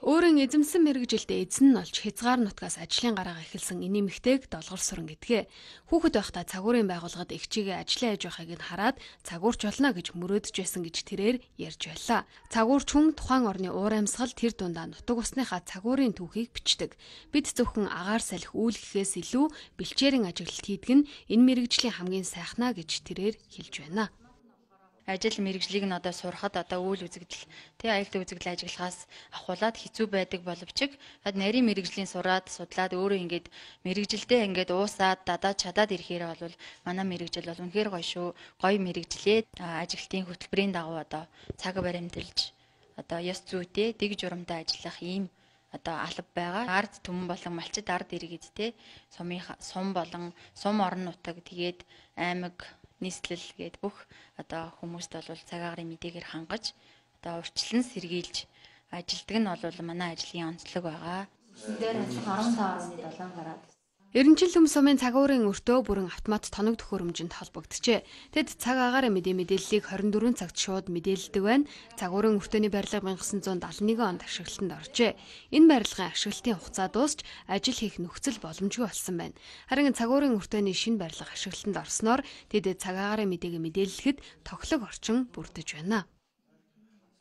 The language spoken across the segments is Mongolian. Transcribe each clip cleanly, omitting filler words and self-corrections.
Өөрийн эзэмсэн мэрэгжилдээ эзэн нь олж хязгаар нутгаас ажлын гараагаа эхэлсэн энэ эмэгтэйг долгор суран гэдгээ. Хүүхэд байхдаа цагуурын байгууллагад эгчигээ ажиллаа хийж байгааг нь хараад цагуурч болно гэж мөрөөдөж байсан гэж тэрээр ярьж байлаа. Цагуурч хүн тухайн орны уур амьсгал тэр дундаа нутаг усныхаа цагуурын түүхийг бичдэг. Бид зөвхөн агаар салхи үйл гэхээс илүү бэлчээрийн ажиглалт хийдэг нь энэ мэрэгжлийн хамгийн сайхнаа гэж тэрээр хэлж байна. Ажил мэрэгжлийг нь одоо сурахад одоо үйл үзэгдэл аюултай үзэгдэл ажиллахаас ахуулаад хэцүү байдаг боловч нарийн мэрэгжлийн сураад судлаад өөрөө ингээд мэрэгжилдээ ингээд уусаад дадаад чадаад ирэхээр бол манай мэрэгжил бол үнэхээр гоё шүү. Гоё мэрэгжлээ ажиглалтын хөтөлбөрийн дагуу одоо цаг баримталж одоо ёс зүйтэй дэг журамтай ажиллах ийм одоо алба байгаа. Ард түмэн болон малчид ард иргэд сум болон сум орон нутаг тэгээд аймаг нийслэл гээд бүх одоо хүмүүст бол цаг агарын мэдээгээр хангаж одоо урьдчилан сэргийлж ажилдаг нь бол манай ажлын онцлог байгаа. Дээр 15.7 гараад Эренчил төм сумын цагуурын өртөө бүрэн автомат тоног төхөөрөмжөнд холбогдчихэ. Тэд цаг агарын мэдээллийг 24 цагт шууд мэдээлдэг байна. Цагуурын өртөөний барилга 1971 онд ашиглалтанд оржээ. Энэ барилгын ашиглалтын хугацаа дуусч ажил хийх нөхцөл боломжгүй болсон байна. Харин цагуурын өртөөний шинэ барилга ашиглалтанд орсноор тэд цаг агарын мэдээг мэдээлэхэд тоглог орчин бүрдэж байна.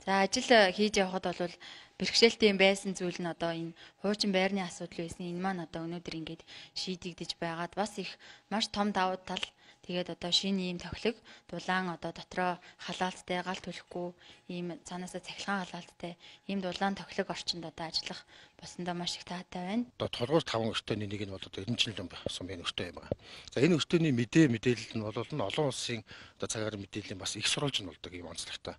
За ажил хийж явхад бол бэрхшээлтэй байсан зүйл нь одоо энэ хуучин байрны асуудал байсан. Энэ маань одоо өнөөдөр ингээд шийдэгдэж байгаад бас их маш том давуу тал. Тэгээд одоо шинэ ийм тохилог дулаан одоо дотроо халаалттай гал төлөхгүй ийм цаанаасаа цахилгаан халаалттай ийм дулаан тохилог орчинд одоо ажиллах болсондоо маш их таатай байна. Одоо толгойр 5 өртөөний нэг нь бол одоо Эренчил сумын өртөө юм байна. За энэ өртөөний мэдээлэл нь бол олон улсын одоо цаг агарын мэдээллийн бас их сурвалж нь болдог юм онцлогтой.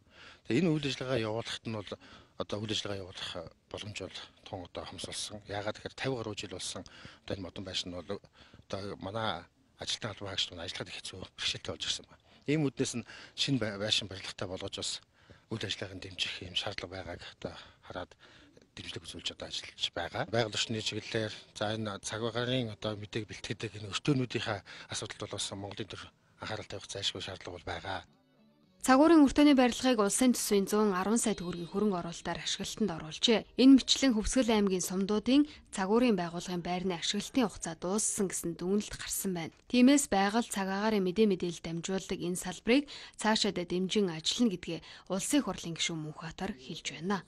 Тэгээ энэ үйл ажиллагаа явуулахад нь бол одоо үйл ажиллагаа явуулах боломж бол тун одоо хомсолсон. Яагаад гэхээр 50 гаруй жил болсон одоо энэ модон байшин нь бол одоо манай ажилтны албан хаагчид ажиллахад их хэцүү бэрхшээлтэй болж ирсэн байна. Ийм үднээс нь шинэ байшин барилгатай болгож бас үйл ажиллагааг дэмжих юм шаардлага байгааг одоо хараад дэмжлэг үзүүлж одоо ажиллаж байгаа. Байгаль орчны чиглэлээр за энэ цаг агарын одоо мэдээг бэлтгэдэг энэ өртөөнүүдийнхээ асуудалд бол бас Монголын төр анхаарал тавих зайлшгүй шаардлага бол байгаа. Цагуурын өртөөний барилгыг улсын төсвийн 110 сая төгрөгийн хөрөнгө оруулалтаар ашиглалтанд оруулжээ. Энэ мэтчлэн Хөвсгөл аймгийн сумдуудын цагуурын байгууллагын байрны ашиглалтын хугацаа дууссан гэсэн дүгнэлт гарсан байна. Тиймээс байгаль цаг агарын мэдээлэл дамжуулдаг энэ салбарыг цаашаа дэмжин ажиллана гэдгээ улсын хурлын гишүүн Мөнхбаатар хэлж байна.